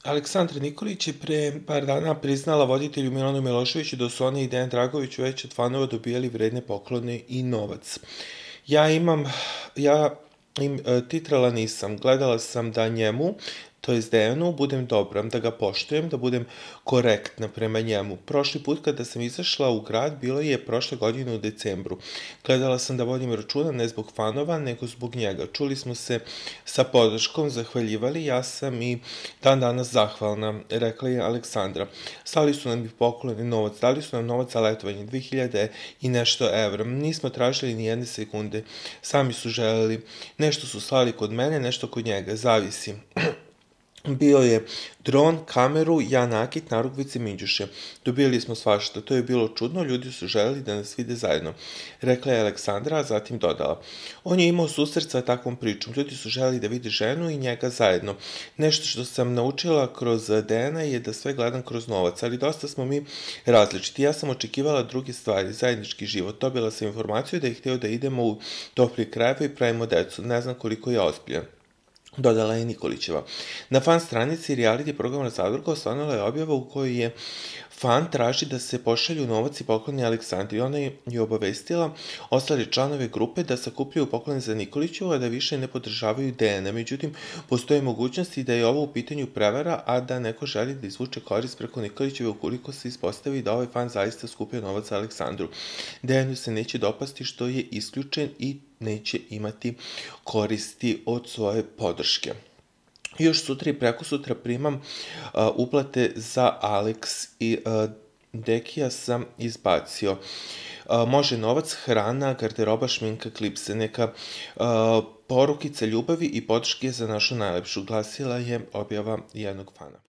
Aleksandra Nikolić je pre par dana priznala voditelju Milanu Miloševiću da su oni i Dejan Dragović već od fanova dobijali vredne poklone i novac. Ja titrala nisam, gledala sam da njemu, to jest Dejanu, budem dobra, da ga poštujem, da budem korektna prema njemu. Prošli put kada sam izašla u grad, bilo je prošle godine u decembru. Gledala sam da vodim računa ne zbog fanova, nego zbog njega. Čuli smo se sa podrškom, zahvaljivali, ja sam i dan danas zahvalna, rekla je Aleksandra. Slali su nam i poklone novac, dali su nam novac za letovanje, 2000 i nešto evra. Nismo tražili ni jedne sekunde, sami su želeli. Nešto su slali kod mene, nešto kod njega, zavisi. Bio je dron, kameru, ja nakit, narukvice, minđuše. Dobili smo svašta, to je bilo čudno, ljudi su želeli da nas vide zajedno, rekla je Aleksandra, a zatim dodala. On je imao susret sa takvom pričom, ljudi su želeli da vide ženu i njega zajedno. Nešto što sam naučila kroz Dejana je da sve gledam kroz novac, ali dosta smo mi različiti. Ja sam očekivala druge stvari, zajednički život. Dobila sam informaciju da je hteo da idemo u topli krajeve i pravimo decu, ne znam koliko je ozbiljan, dodala je Nikolićeva. Na fan stranici reality programa Zadruga osvanula je objava u kojoj je fan traži da se pošalju novac i pokloni Aleksandri. Ona je obavestila ostale članove grupe da sakupljaju poklone za Nikolićevu, a da više ne podržavaju Dejana. Međutim, postoje mogućnosti da je ovo u pitanju prevara, a da neko želi da izvuče korist preko Nikolićeve ukoliko se ispostavi da ovaj fan zaista skupio novac za Aleksandru. Dejanu se neće dopasti što je isključen i neće imati koristi od svoje podrške. Još sutra i preko sutra primam uplate za Alex i Dekija sam izbacio. Može novac, hrana, garderoba, šminka, klipse, neka porukica ljubavi i podrške za našu najlepšu, glasila je objava jednog fana.